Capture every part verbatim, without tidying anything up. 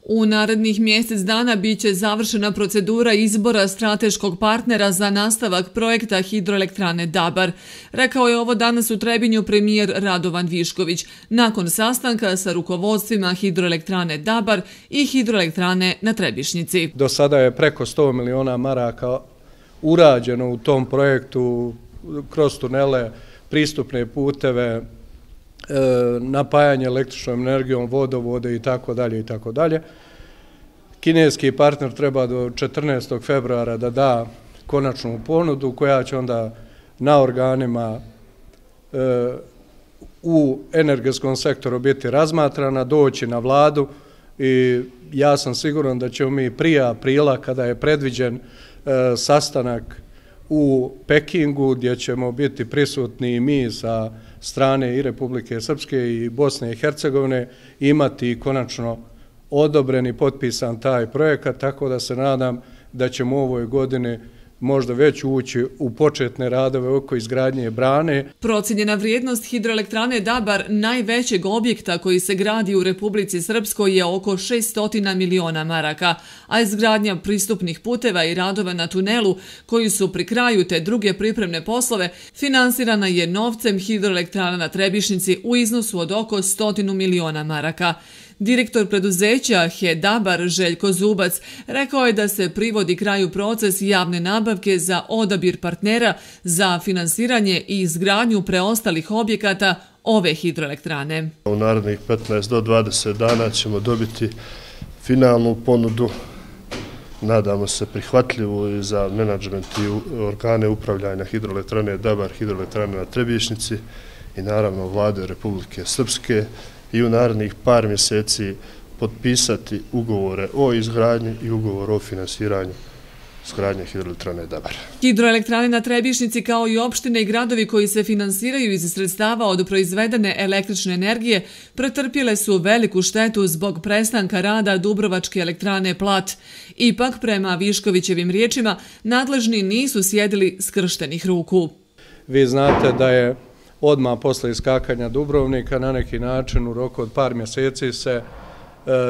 U narednih mjesec dana biće završena procedura izbora strateškog partnera za nastavak projekta hidroelektrane Dabar. Rekao je ovo danas u Trebinju premijer Radovan Višković, nakon sastanka sa rukovodstvima hidroelektrane Dabar i hidroelektrane na Trebišnjici. Do sada je preko sto miliona maraka urađeno u tom projektu kroz tunele, pristupne puteve, napajanje električnom energijom, vodovode i tako dalje i tako dalje. Kineski partner treba do četrnaestog februara da da konačnu ponudu koja će onda na organima u energetskom sektoru biti razmatrana, doći na vladu i ja sam siguran da ćemo mi prije aprila, kada je predviđen sastanak u Pekingu, gdje ćemo biti prisutni i mi sa strane i Republike Srpske i Bosne i Hercegovine, imati konačno odobren i potpisan taj projekat, tako da se nadam da ćemo u ovoj godini možda već ući u početne radove oko izgradnje brane. Procijenjena vrijednost hidroelektrane Dabar, najvećeg objekta koji se gradi u Republici Srpskoj, je oko šessto miliona maraka, a izgradnja pristupnih puteva i radova na tunelu, koji su pri kraju, te druge pripremne poslove, finansirana je novcem hidroelektrana na Trebišnjici u iznosu od oko stotinu miliona maraka. Direktor preduzeća H E Dabar Željko Zubac rekao je da se privodi kraju proces javne nabavke za odabir partnera za finansiranje i izgradnju preostalih objekata ove hidroelektrane. U narednih petnaest do dvadeset dana ćemo dobiti finalnu ponudu, nadamo se prihvatljivu i za menadžment i organe upravljanja hidroelektrane Dabar, hidroelektrane na Trebišnjici i naravno vlade Republike Srpske, i u narednih par mjeseci potpisati ugovore o izgradnji i ugovor o finansiranju izgradnje hidroelektrane Dabar. Hidroelektrane na Trebišnjici, kao i opštine i gradovi koji se finansiraju iz sredstava od proizvedene električne energije, pretrpjele su veliku štetu zbog prestanka rada Dubrovačke elektrane Plat. Ipak, prema Viškovićevim riječima, nadležni nisu sjedili skrštenih ruku. Vi znate da je odmah posle iskakanja Dubrovnika na neki način u roku od par mjeseci se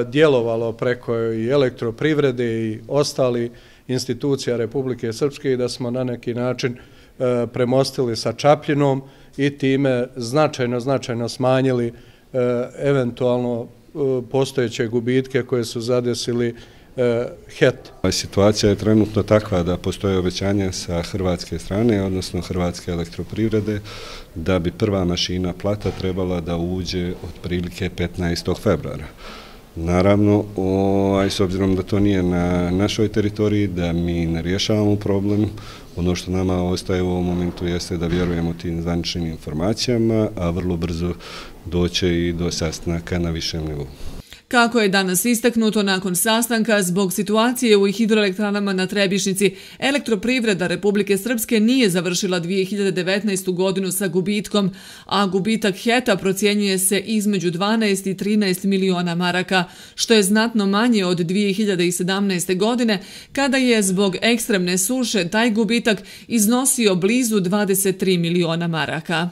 djelovalo preko i elektroprivrede i ostali institucija Republike Srpske i da smo na neki način premostili sa Čapljinom i time značajno, značajno smanjili eventualno postojeće gubitke koje su zadesili H E T. Situacija je trenutno takva da postoje obećanja sa hrvatske strane, odnosno Hrvatske elektroprivrede, da bi prva mašina Plata trebala da uđe otprilike petnaestog februara. Naravno, s obzirom da to nije na našoj teritoriji, da mi ne rješavamo problem, ono što nama ostaje u ovom momentu jeste da vjerujemo tim zvaničnim informacijama, a vrlo brzo doće i do sastanaka na višem nivou. Kako je danas istaknuto, nakon sastanka zbog situacije u hidroelektranama na Trebišnjici, Elektroprivreda Republike Srpske nije završila dvije hiljade devetnaestu. godinu sa gubitkom, a gubitak H E T-a procjenjuje se između dvanaest i trinaest miliona maraka, što je znatno manje od dvije hiljade sedamnaeste. godine, kada je zbog ekstremne suše taj gubitak iznosio blizu dvadeset tri miliona maraka.